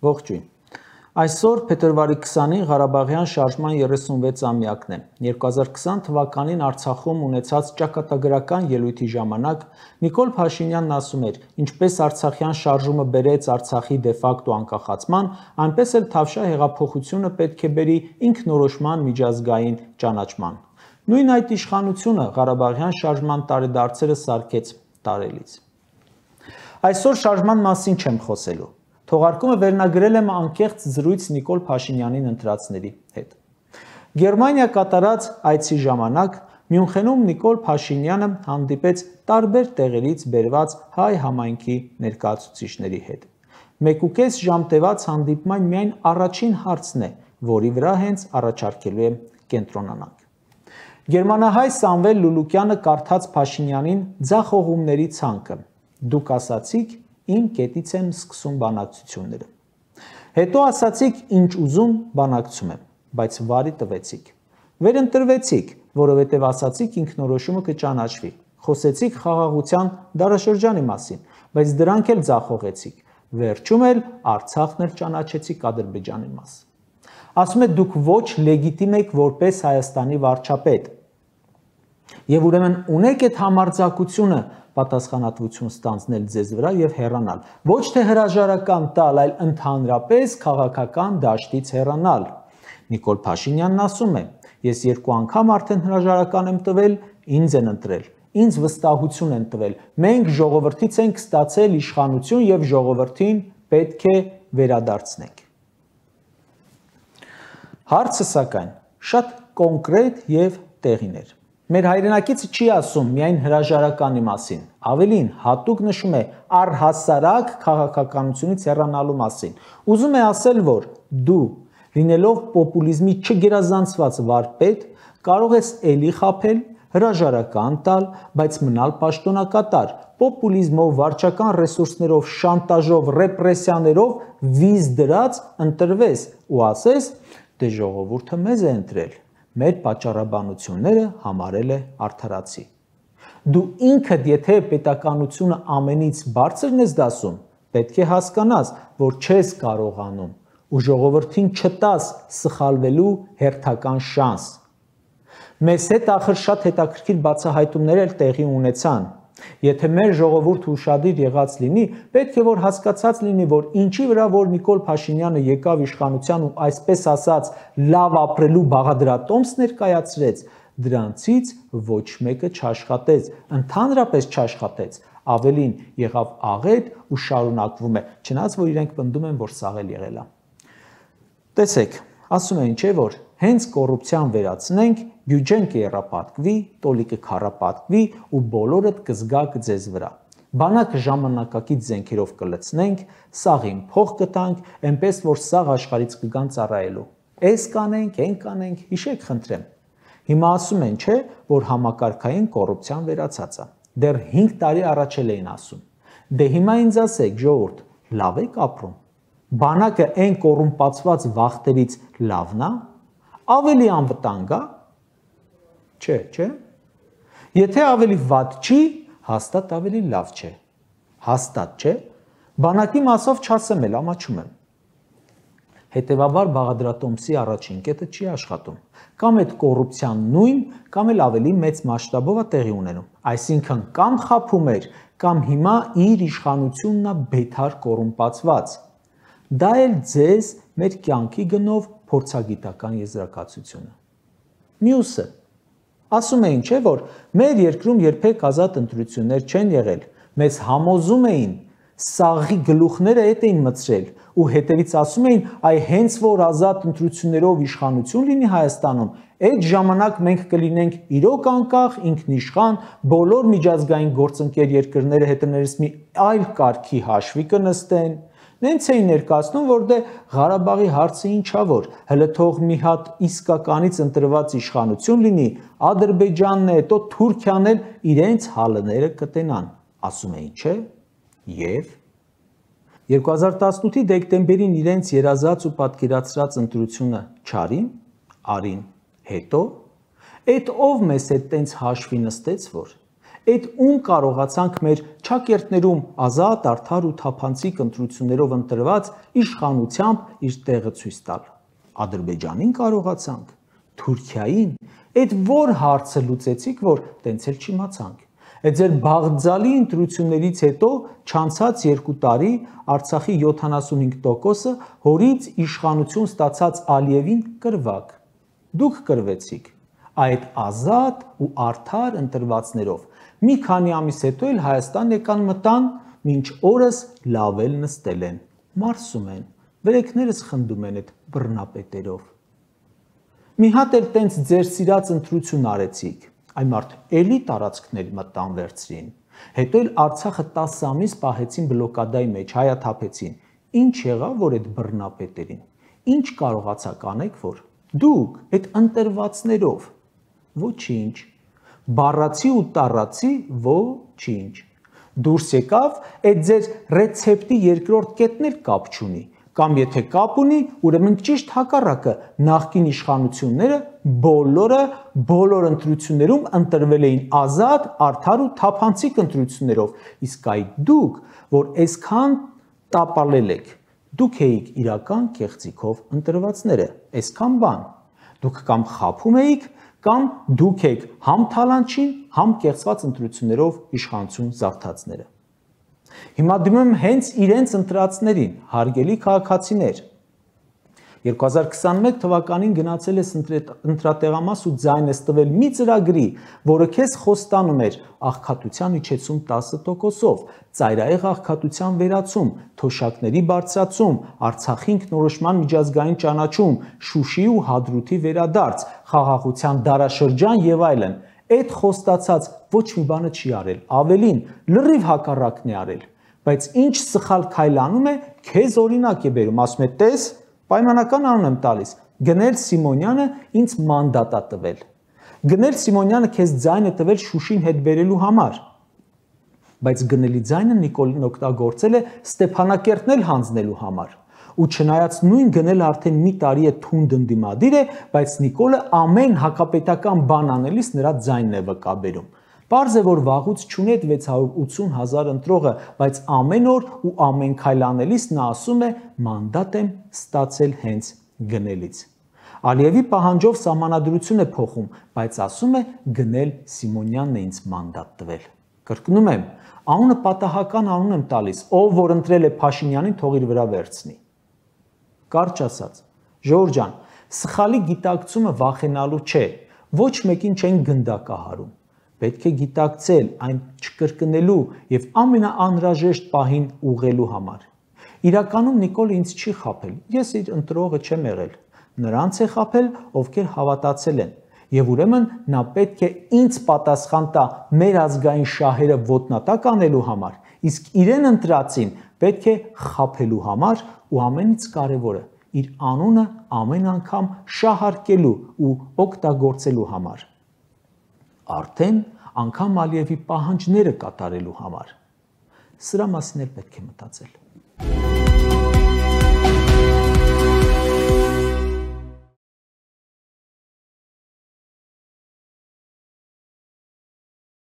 Ողջույն։ Այսօր փետրվարի 20-ին Ղարաբաղյան շարժման 36-ամյակն է։ 2020 թվականին Արցախում ունեցած ճակատագրական ելույթի ժամանակ Նիկոլ Փաշինյանն ասում էր, ինչպես Արցախյան շարժումը բերեց Արցախի դեֆակտո անկախացման, այնպես էլ Թավշյա հեղափոխությունը պետք է բերի ինքնորոշման միջազգային ճանաչման։ Նույն այդ իշխանությունը Ղարաբաղյան շարժման տարեդարձերը սարքեց տարելից։ Այսօր շարժման մասին չեմ խոսելու։ Թողարկումը վերնագրել եմ անկեղծ զրույց Նիկոլ Փաշինյանին ընտրածների հետ։ Գերմանիա կատարած այցի ժամանակ Մյունխենում Նիկոլ Փաշինյանը հանդիպեց տարբեր տեղերից բերված հայ համայնքի ներկայացուցիչների հետ։ 1.5 ժամ տևած հանդիպման միայն առաջին հարցն է, որի վրա հենց առաջարկելու եմ կենտրոնանանք։ Գերմանահայ Սամվել Լուլուկյանը կարդաց Փաշինյանին ձախողումների ցանկը։ Դուք ասացիք, իմ կետից եմ սկսում բանակցությունները։ Հետո ասացիք, ինչ ուզում բանակցում եմ, բայց վարի տվեցիք։ Վերընտրվեցիք, որովհետև ասացիք ինքնորոշումը կճանաչվի։ Խոսեցիք խաղաղության դարաշրջանի մասին, բայց դրանք էլ ձախողեցիք։ Վերջում էլ Արցախն էլ ճանաչեցիք Ադրբեջանի մաս։ Ասում եք դուք ոչ լեգիտիմ եք որպես Հայաստանի վարչապետ։ Եվ ուրեմն ունեք այդ համարձակությունը պատասխանատվություն ստանձնել ձեզ վրա եւ հեռանալ։ Ոչ թե հրաժարական տալ, այլ ընդհանրապես քաղաքական դաշտից հեռանալ։ Նիկոլ Փաշինյանն ասում է. ես 2 անգամ արդեն հրաժարական եմ տվել, ինձ են ընտրել, ինձ վստահություն են տվել։ Մենք ժողովրդից ենք ստացել իշխանություն եւ ժողովրդին պետք է վերադարձնենք։ Հարցը սակայն շատ կոնկրետ եւ տեղին էր։ Մեր հայրենակիցը չի ասում միայն հրաժարականի մասին, ավելին հատուկ նշում է առհասարակ քաղաքականությունից հեռանալու մասին։ Ուզում է ասել, որ դու, լինելով պոպուլիզմի չգերազանցված վարպետ, կարող ես էլի խաբել, հրաժարական տալ, բայց մնալ պաշտոնակատար, պոպուլիզմով, վարչական ռեսուրսներով, շանտաժով, ռեպրեսիաներով վիզ դրած ընտրվես ու ասես, դե ժողովուրդը մեզ է ընտրել։ Մեր պատճառաբանությունները համարել է արդարացի։ Դու ինքդ եթե պետականությունը ամենից բարձրն ես դասում, պետք է հասկանաս, որ չես կարողանում ու ժողովրդին չտաս սխալվելու հերթական շանս։ Մեզ հետ ախր շատ հետաքրքիր բացահայտումներ էլ տեղի ունեցան։ Եթե մեր ժողովուրդը ուշադիր եղած լինի, պետք է որ հասկացած լինի, որ ինչի վրա որ Նիկոլ Փաշինյանը եկավ իշխանության ու այսպես ասած լավ ապրելու բաղադրատոմս ներկայացրեց, դրանցից ոչ մեկը չաշխատեց, ընդհանրապես չաշխատեց, ավելին եղավ աղետ ու շարունակվում է, չնայած որ իրենք պնդում են, որ սաղ էլ եղել է։ Տեսեք, ասում են չէ որ հենց կոռուպցիան վերացնենք, բյուջեն կեռապատկվի, տոլիկը քառապատկվի ու բոլորդ կզգաք ձեզ վրա։ Բանակը ժամանակակից զենքերով կլցնենք, սաղին փող կտանք, այնպես որ սաղ աշխարհից կգան ծառայելու։ Էս կանենք, այն կանենք, հիշեք խնդրեմ։ Հիմա ասում են չէ, որ համակարգային կոռուպցիան վերացած է։ Դեռ 5 տարի առաջ էլ էին ասում։ Դե հիմա ինձ ասեք, ժողովուրդ, լավ եք ապրում։ Բանակը այն կոռումպացված վախտերից լավն է, ավելի անվտանգ է։ Չէ։ Եթե ավելի վատ չի, հաստատ ավելի լավ չէ։ Հաստատ չէ։ Բանակի մասով չասեմ էլ, ամաչում եմ։ Հետևաբար բաղադրատոմսի առաջին կետը չի աշխատում։ Կամ այդ կոռուպցիան նույն, կամ էլ ավելի մեծ մասշտաբով է տեղի ունենում։ Այսինքն կամ խաբում էր, կամ հիմա իր իշխանությունն է բեթար կոռումպացված։ Դա էլ ձեզ մեր կյանքի գնով փորձագիտական եզրակացությունը։ Մյուսը ասում էին չէ որ մեր երկրում երբեք ազատ ընտրություններ չեն եղել, մեզ համոզում էին, սաղի գլուխները հետ էին մցրել ու հետևից ասում էին, այ հենց որ ազատ ընտրություններով իշխանություն լինի Հայաստանում, այդ ժամանակ մենք կլինենք իրոք անկախ, ինքնիշխան, բոլոր միջազգային գործընկեր երկրները հետներս մի այլ կարգի հաշվի կնստեն։ Նենց էին ներկայացնում, որ դե Ղարաբաղի հարցը ինչա որ, հələ թող մի հատ իսկականից ընտրված իշխանություն լինի, Ադրբեջանն է, հետո Թուրքիան էլ իրենց հալները կտենան, ասում էին, չէ՞։ Եվ 2018-ի դեկտեմբերին իրենց երազած ու պատկերացրած ընտրությունը չարին, արին, հետո այդ ով մեզ հետ տենց հաշվի նստեց որ, Այդ ում կարողացանք մեր ճակերտներում ազատ, արդար ու թափանցիկ ընտրություններով ընտրված իշխանությամբ իր տեղը ցույց տալ։ Ադրբեջանին կարողացանք, Թուրքիային, այդ որ հարցը լուծեցիք, որ տենց էլ չիմացանք։ Այդ ձեր բաղձալի ընտրություններից հետո չանցած 2 տարի Արցախի 75%-ը հորից իշխանություն ստացած Ալիևին կրվակ։ Դուք կրվեցիք այդ ազատ ու արդար ընտրվածներով։ Մի քանի ամիս հետո էլ Հայաստան եկան մտան, մինչ օրս լավ էլ նստել են, մարսում են, վրեքներս խնդում են այդ բռնապետերով։ Մի հատ էլ տենց ձեր սիրած ընտրություն արեցիք, այն մարդ էլի տարածքներ մտան վերցրին, հետո էլ Արցախը 10 ամիս պահեցին բլոկադայի մեջ, հայաթափեցին։ Ինչ եղավ, որ այդ բռնապետերին, ինչ կարողացաք անեք, որ դուք այդ ընտրվածներով, ոչինչ, բառացի ու տառացի, ոչինչ, դուրս եկավ, այդ ձեր ռեցեպտի երկրորդ կետն էլ կապ չունի, կամ եթե կապ ունի, ուրեմն ճիշտ հակառակը, նախկին իշխանությունները բոլոր ընտրություններում ընտրվել էին ազատ, արդար ու թափանցիկ ընտրություններով, իսկ այդ դուք, որ այսքան տապալել եք, դուք էիք իրական կեղծիքով ընտրվածները, այսքան բան, դուք կամ խաբում էիք, կամ դուք եք համ թալանչին, համ կեղծված ընտրություններով իշխանություն զարթածները։ Հիմա դիմում եմ հենց իրենց ընտրածներին, հարգելի քաղաքացիներ։ 2021 թվականին գնացել ես ընտրատեղամաս ու ձայն ես տվել մի ծրագրի, որը քեզ խոստանում էր աղքատության իջեցում 10%-ով, ծայրահեղ աղքատության վերացում, թոշակների բարձրացում, Արցախի ինքնորոշման միջազգային ճանաչում, Շուշիի ու Հադրութի վերադարձ, խաղաղության դարաշրջան եւ այլն։ Այդ խոստացած ոչ մի բանը չի արել, ավելին, լրիվ հակառակն է արել, բայց ինչ սխալ քայլ անում է, քեզ օրինակ է բերում, ասում է, տես, պայմանական անուն եմ տալիս, Գնել Սիմոնյանը ինձ մանդատ է տվել։ Գնել Սիմոնյանը քեզ ձայն է տվել Շուշին հետ բերելու համար, բայց գնելի ձայնը Նիկոլին օգտագործել է Ստեփանակերտն էլ հանձնելու համար։ Ու չնայած նույն գնելը արդեն մի տարի է թունդ ընդդիմադիր է, բայց Նիկոլը ամեն հակապետական բան անելիս նրա ձայնն է վկաբերում։ Պարզ է, որ վաղուց չունի այդ 680,000 ընտրողը, բայց ամեն օր ու ամեն քայլ անելիս նա ասում է մանդատ եմ ստացել հենց գնելից։ Ալիևի պահանջով սահմանադրություն է փոխում, բայց ասում է գնել Սիմոնյանն է ինձ մանդատ տվել։ Կրկնում եմ, անունը պատահական անուն եմ տալիս, ով որ ընտրել է Փաշինյանին, թող իր վրա վերցնի։ Կարճ ասած, Ժորժ ջան, սխալի գիտակցումը վախենալու չէ, ոչ մեկին չեն գնդակահարում։ Պետք է գիտակցել այն չկրկնելու եւ ամենաանհրաժեշտ պահին ուղղելու համար։ Իրականում Նիկոլը ինձ չի խաբել, ես իր ընտրողը չեմ եղել, նրանց է խաբել, ովքեր հավատացել են, եւ ուրեմն նա պետք է ինձ պատասխան տա մեր ազգային շահերը ոտնատակ անելու համար, իսկ իրեն ընտրածին պետք է խաբելու համար ու ամենից կարևորը իր անունը ամեն անգամ շահարկելու ու օգտագործելու համար։ Արդեն անգամ Ալիևի պահանջները կատարելու համար։ Սրա մասին էլ պետք է մտածել։